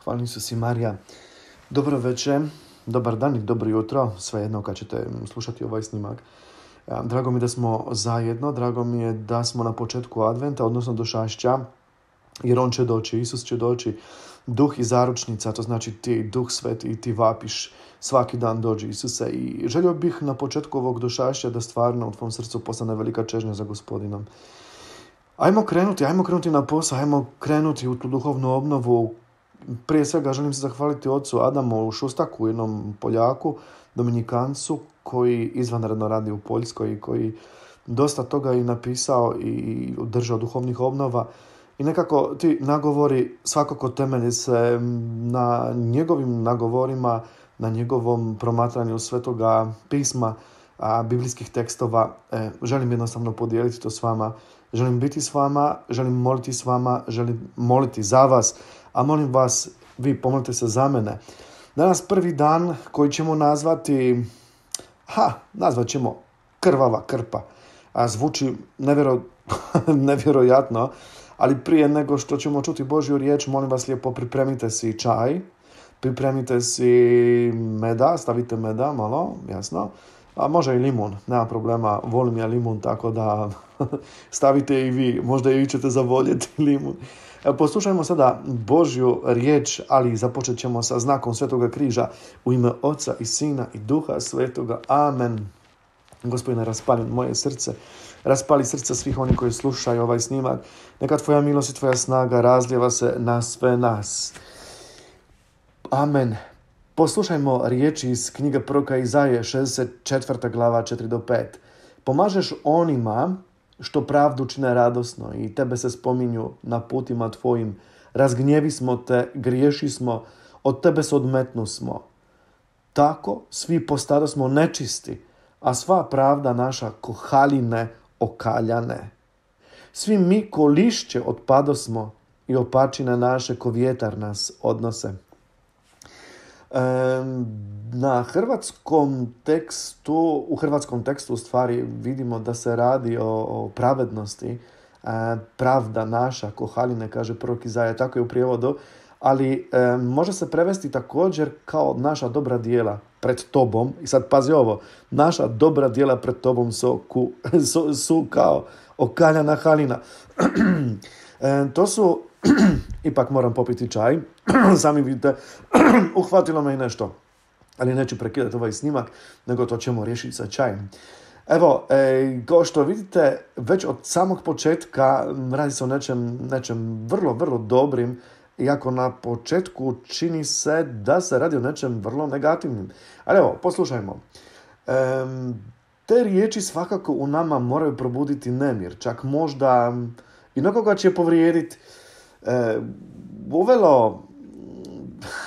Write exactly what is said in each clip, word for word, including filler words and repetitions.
Hvala Isus i Marija. Dobro večer, dobar dan i dobro jutro, svejedno kad ćete slušati ovaj snimak. Drago mi je da smo zajedno, drago mi je da smo na početku adventa, odnosno došašća, jer on će doći, Isus će doći. Duh i zaručnica, to znači ti, Duh Sveti, i ti vapiš svaki dan dođi Isuse. I želio bih na početku ovog došašća da stvarno u tvom srcu postane velika čežnja za Gospodinom. Ajmo krenuti, ajmo krenuti na posao, ajmo krenuti u tu duhovnu obnovu. Prije svega želim se zahvaliti ocu Adamu Šustaku, jednom Poljaku, Dominikancu, koji izvanredno radi u Poljskoj i koji dosta toga i napisao i održao duhovnih obnova. I nekako ti nagovori svakako temelji se na njegovim nagovorima, na njegovom promatranju Svetoga pisma, a, biblijskih tekstova. E, želim jednostavno podijeliti to s vama. Želim biti s vama, želim moliti s vama, želim moliti za vas, a molim vas, vi pomolite se za mene. Danas prvi dan koji ćemo nazvati, ha, nazvat ćemo krvava krpa. A zvuči nevjero, nevjerojatno, ali prije nego što ćemo čuti Božju riječ, molim vas lijepo, pripremite si čaj, pripremite si meda, stavite meda malo, jasno, a može i limun, nema problema, volim ja limun, tako da stavite i vi, možda i vi ćete zavoljeti limun. Poslušajmo sada Božju riječ, ali započet ćemo sa znakom Svetoga križa u ime Oca i Sina i Duha Svetoga. Amen. Gospodine, raspali moje srce, raspali srce svih onih koji slušaju ovaj snimak. Neka tvoja milost i tvoja snaga razlijeva se na sve nas. Amen. Poslušajmo riječi iz knjige proroka Izaije, šezdeset četvrta glava, četiri do pet. Pomažeš onima što pravdu čine radosno i tebe se spominju na putima tvojim. Razgnjevi smo te, griješi smo, od tebe se odmetnu smo. Tako svi postado smo nečisti, a sva pravda naša ko haline okaljane. Svi mi ko lišće otpado smo i opačine naše ko vjetar nas odnose. E, na hrvatskom tekstu, u hrvatskom tekstu u stvari vidimo da se radi o, o pravednosti. E, pravda naša ko haline, kaže prorok Izaija, tako je u prijevodu, ali e, može se prevesti također kao naša dobra djela pred tobom. I sad pazi ovo, naša dobra djela pred tobom su, ku, su, su kao okaljana halina. e, to su, ipak moram popiti čaj, sami vidite, uhvatilo me i nešto, ali neću prekidati ovaj snimak, nego to ćemo riješiti sa čajem. Evo, e, kao što vidite, već od samog početka radi se o nečem, nečem vrlo, vrlo dobrim, iako na početku čini se da se radi o nečem vrlo negativnim. Ali evo, poslušajmo. E, te riječi svakako u nama moraju probuditi nemir, čak možda i nekoga će povrijediti. E, uvelo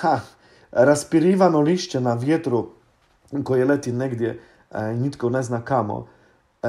ha, raspirivano lišće na vjetru koje leti negdje i e, nitko ne zna kamo. E,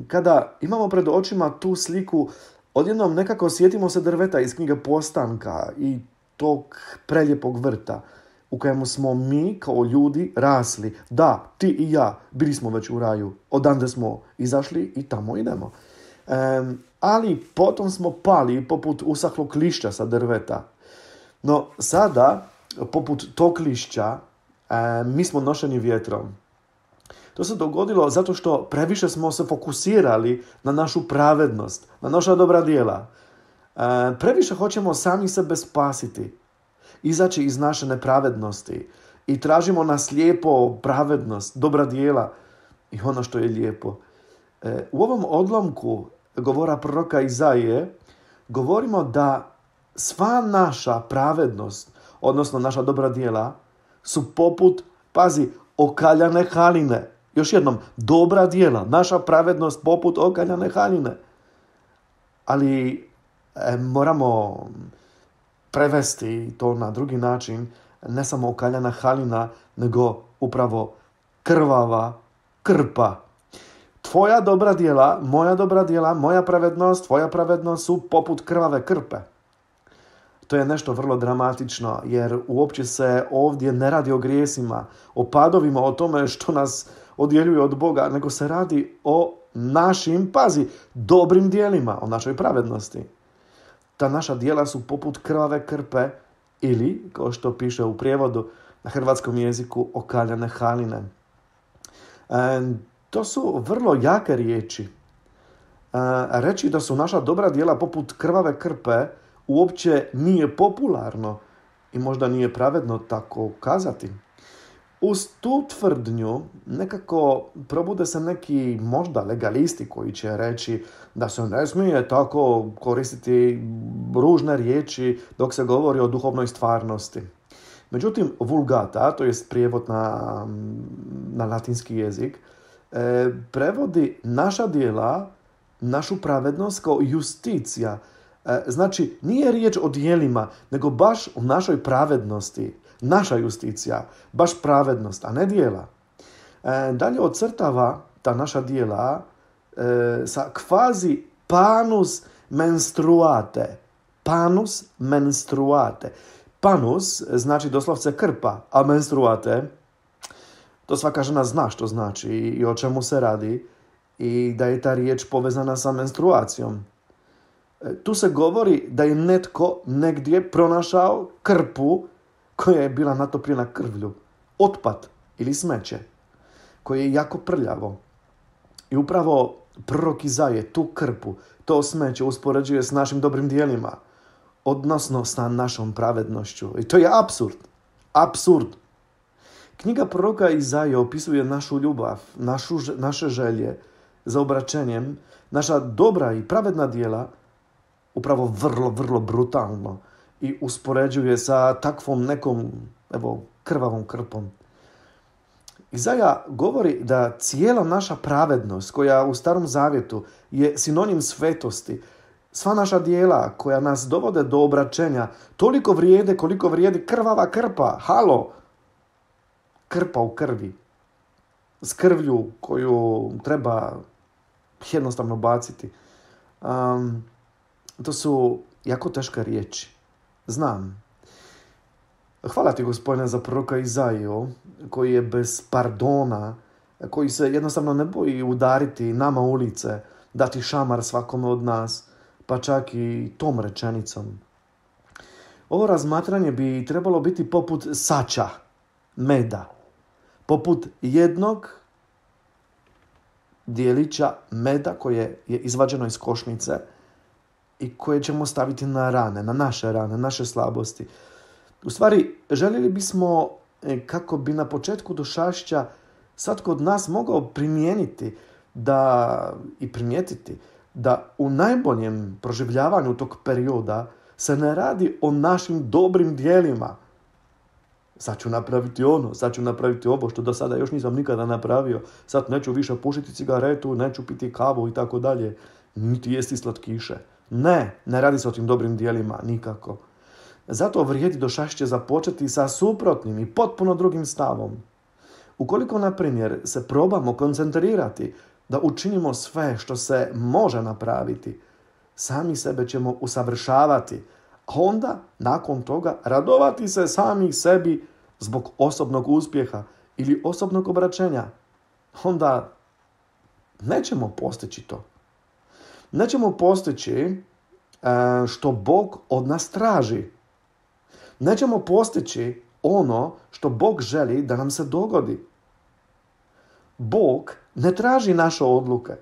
kada imamo pred očima tu sliku, odjednom nekako sjetimo se drveta iz knjige Postanka i tog preljepog vrta u kojemu smo mi kao ljudi rasli. Da, ti i ja bili smo već u raju, odande smo izašli i tamo idemo. E, ali potom smo pali poput usahlog lišća sa drveta. No sada, poput tog lišća, e, mi smo nošeni vjetrom. To se dogodilo zato što previše smo se fokusirali na našu pravednost, na naša dobra djela. E, previše hoćemo sami sebe spasiti, izaći iz naše nepravednosti i tražimo na slijepo pravednost, dobra djela i ono što je lijepo. E, u ovom odlomku govora proroka Izaije govorimo da sva naša pravednost, odnosno naša dobra djela, su poput, pazi, okaljane haline. Još jednom, dobra djela, naša pravednost poput okaljane haline. Ali e, moramo prevesti to na drugi način, ne samo okaljana halina, nego upravo krvava krpa. Tvoja dobra djela, moja dobra djela, moja pravednost, tvoja pravednost su poput krvave krpe. To je nešto vrlo dramatično, jer uopće se ovdje ne radi o grijesima, o padovima, o tome što nas odjeljuje od Boga, nego se radi o našim, pazi, dobrim djelima, o našoj pravednosti. Ta naša djela su poput krvave krpe ili, kao što piše u prijevodu na hrvatskom jeziku, okaljane haline. E, to su vrlo jake riječi. E, reći da su naša dobra djela poput krvave krpe uopće nije popularno i možda nije pravedno tako kazati. Uz tu tvrdnju nekako probude se neki možda legalisti koji će reći da se ne smije tako koristiti ružne riječi dok se govori o duhovnoj stvarnosti. Međutim, vulgata, to jest prijevod na, na latinski jezik, e, prevodi naša djela, našu pravednost kao justicija. E, znači, nije riječ o djelima, nego baš o našoj pravednosti. Naša justicija, baš pravednost, a ne djela. E, dalje ocrtava ta naša djela e, sa kvazi panus menstruate. Panus menstruate. Panus znači doslovce krpa, a menstruate, to svaka žena zna što znači i o čemu se radi i da je ta riječ povezana sa menstruacijom. E, tu se govori da je netko negdje pronašao krpu koja je bila natopljena krvlju, otpad ili smeće, koje je jako prljavo. I upravo prorok Izaje tu krpu, to smeće uspoređuje s našim dobrim djelima, odnosno sa našom pravednošću. I to je apsurd. Apsurd. Knjiga proroka Izaje opisuje našu ljubav, našu, naše želje za obraćenjem, naša dobra i pravedna djela upravo vrlo, vrlo brutalno i uspoređuje sa takvom nekom, evo, krvavom krpom. Izaja govori da cijela naša pravednost, koja u Starom Zavjetu je sinonim svetosti, sva naša djela koja nas dovode do obraćenja, toliko vrijede koliko vrijedi krvava krpa. Halo! Krpa u krvi. S krvlju koju treba jednostavno baciti. Um, to su jako teške riječi. Znam. Hvala ti, Gospodine, za proroka Izaiju, koji je bez pardona, koji se jednostavno ne boji udariti nama ulice, dati šamar svakome od nas, pa čak i tom rečenicom. Ovo razmatranje bi trebalo biti poput sača, meda, poput jednog dijelića meda koje je izvađeno iz košnice i koje ćemo staviti na rane, na naše rane, naše slabosti. U stvari, željeli bismo, kako bi na početku došašća svatko od nas mogao primijeniti da, i primijetiti da u najboljem proživljavanju tog perioda se ne radi o našim dobrim djelima. Sad ću napraviti ono, sad ću napraviti ovo što do sada još nisam nikada napravio. Sad neću više pušiti cigaretu, neću piti kavu i tako dalje. Niti jesti slatkiše. Ne, ne radi se o tim dobrim djelima, nikako. Zato vrijedi došašće započeti sa suprotnim i potpuno drugim stavom. Ukoliko, na primjer, se probamo koncentrirati da učinimo sve što se može napraviti, sami sebe ćemo usavršavati, a onda, nakon toga, radovati se sami sebi zbog osobnog uspjeha ili osobnog obraćenja. Onda nećemo postići to. Nećemo postići što Bog od nas traži. Nećemo postići ono što Bog želi da nam se dogodi. Bog ne traži naše odluke.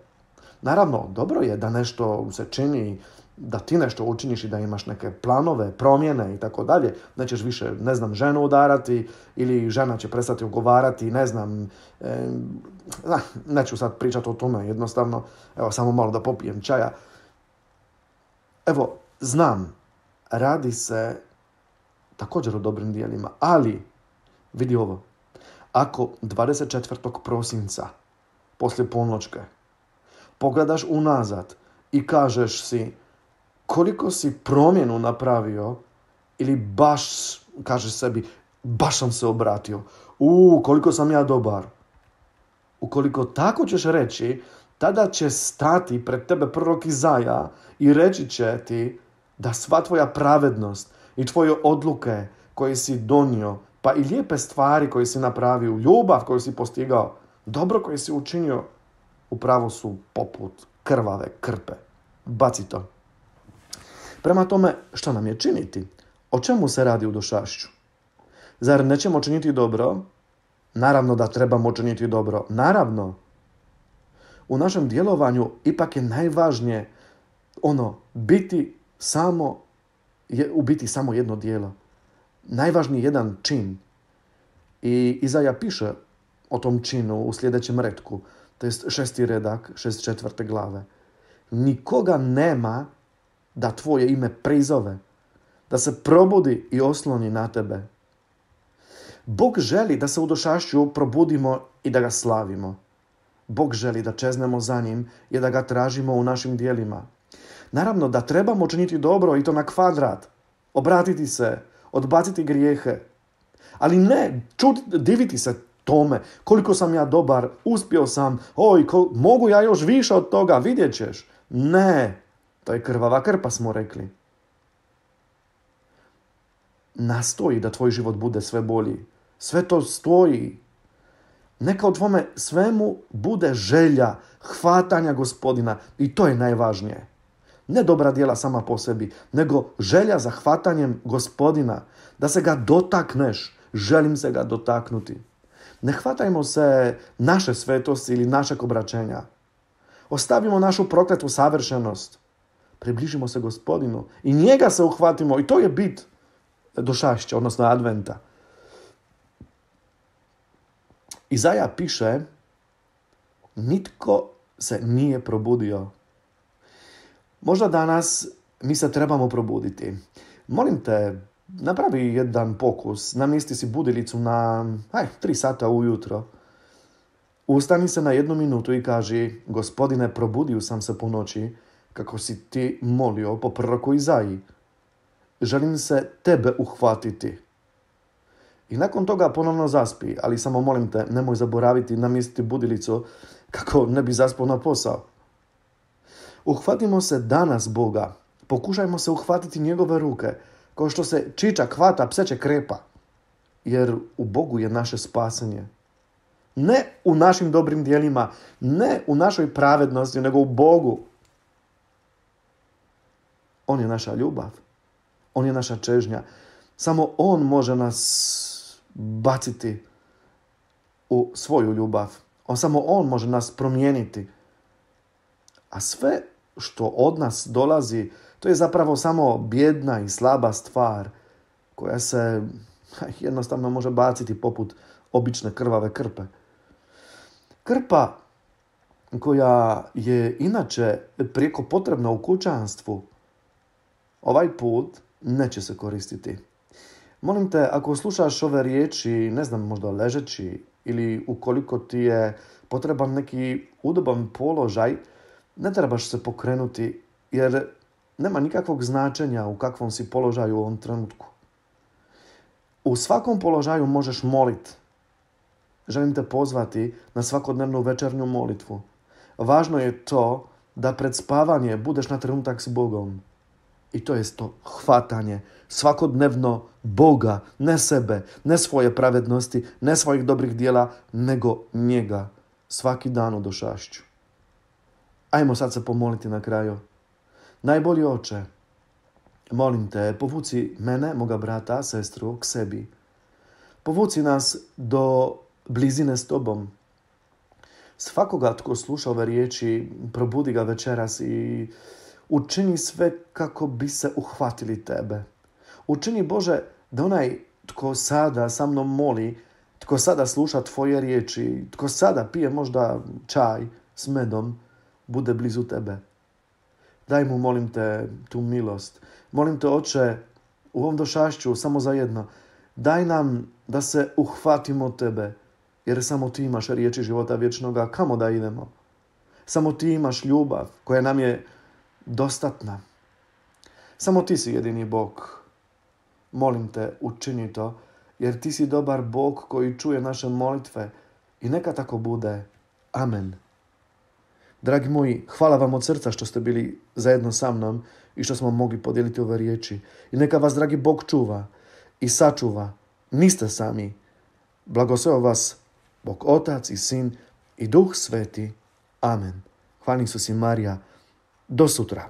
Naravno, dobro je da nešto se čini, da ti nešto učiniš i da imaš neke planove, promjene i tako dalje. Nećeš više, ne znam, ženu udarati ili žena će prestati ugovarati, ne znam, e, neću sad pričati o tome, jednostavno, evo, samo malo da popijem čaja. Evo, znam, radi se također o dobrim djelima, ali, vidi ovo, ako dvadeset četvrtog prosinca, poslije polnoćke, pogledaš unazad i kažeš si koliko si promjenu napravio ili baš, kažeš sebi, baš sam se obratio, u koliko sam ja dobar. Ukoliko tako ćeš reći, tada će stati pred tebe prorok Izaja i reći će ti da sva tvoja pravednost i tvoje odluke koje si donio, pa i lijepe stvari koje si napravio, ljubav koju si postigao, dobro koje si učinio, upravo su poput krvave krpe. Baci to. Prema tome, što nam je činiti? O čemu se radi u došašću? Zar nećemo činiti dobro? Naravno da trebamo činiti dobro. Naravno. U našem djelovanju ipak je najvažnije ono, biti samo, je, u biti samo jedno djelo. Najvažniji jedan čin. I Izaja piše o tom činu u sljedećem retku, to je šesti redak, šest četvrte glave. Nikoga nema da tvoje ime prizove, da se probudi i osloni na tebe. Bog želi da se u došašću probudimo i da ga slavimo. Bog želi da čeznemo za njim i da ga tražimo u našim djelima. Naravno da trebamo činiti dobro i to na kvadrat. Obratiti se, odbaciti grijehe. Ali ne čuti, diviti se tome koliko sam ja dobar, uspio sam, oj, ko, mogu ja još više od toga, vidjet ćeš. Ne, to je krvava krpa, smo rekli. Nastoji da tvoj život bude sve bolji. Sve to stoji. Neka u tvome svemu bude želja hvatanja Gospodina i to je najvažnije. Ne dobra djela sama po sebi, nego želja za hvatanjem Gospodina, da se ga dotakneš. Želim se ga dotaknuti. Ne hvatajmo se naše svetosti ili našeg obraćenja. Ostavimo našu prokletu savršenost. Približimo se Gospodinu i njega se uhvatimo i to je bit došašća, odnosno adventa. Izaja piše, nitko se nije probudio. Možda danas mi se trebamo probuditi. Molim te, napravi jedan pokus, namjesti si budilicu na aj, tri sata ujutro. Ustani se na jednu minutu i kaži, Gospodine, probudio sam se po noći, kako si ti molio po proroku Izaji. Želim se tebe uhvatiti. I nakon toga ponovno zaspi, ali samo molim te, nemoj zaboraviti namjestiti budilicu kako ne bi zaspao na posao. Uhvatimo se danas Boga. Pokušajmo se uhvatiti njegove ruke, kao što se čičak hvata pseće krepa. Jer u Bogu je naše spasenje. Ne u našim dobrim djelima, ne u našoj pravednosti, nego u Bogu. On je naša ljubav. On je naša čežnja. Samo on može nas baciti u svoju ljubav. On, samo on može nas promijeniti. A sve što od nas dolazi, to je zapravo samo bijedna i slaba stvar koja se jednostavno može baciti poput obične krvave krpe. Krpa koja je inače prijeko potrebna u kućanstvu, ovaj put neće se koristiti. Molim te, ako slušaš ove riječi, ne znam, možda ležeći ili ukoliko ti je potreban neki udoban položaj, ne trebaš se pokrenuti jer nema nikakvog značenja u kakvom si položaju u ovom trenutku. U svakom položaju možeš moliti. Želim te pozvati na svakodnevnu večernju molitvu. Važno je to da pred spavanje budeš na trenutak s Bogom. I to je to hvatanje svakodnevno Boga, ne sebe, ne svoje pravednosti, ne svojih dobrih djela, nego njega svaki dan u došašću. Ajmo sad se pomoliti na kraju. Najbolji Oče, molim te, povuci mene, moga brata, sestru, k sebi. Povuci nas do blizine s tobom. Svakoga tko sluša ove riječi, probudi ga večeras i učini sve kako bi se uhvatili tebe. Učini, Bože, da onaj tko sada sa mnom moli, tko sada sluša tvoje riječi, tko sada pije možda čaj s medom, bude blizu tebe. Daj mu, molim te, tu milost. Molim te, Oče, u ovom došašću samo za jedno. Daj nam da se uhvatimo tebe, jer samo ti imaš riječi života vječnoga. Kamo da idemo? Samo ti imaš ljubav koja nam je dostatna. Samo ti si jedini Bog. Molim te, učini to, jer ti si dobar Bog koji čuje naše molitve i neka tako bude. Amen. Dragi moji, hvala vam od srca što ste bili zajedno sa mnom i što smo mogli podijeliti ove riječi. I neka vas, dragi Bog, čuva i sačuva. Niste sami. Blagoslov vas Bog Otac i Sin i Duh Sveti. Amen. Hvala Isus i Marija. Do sutra.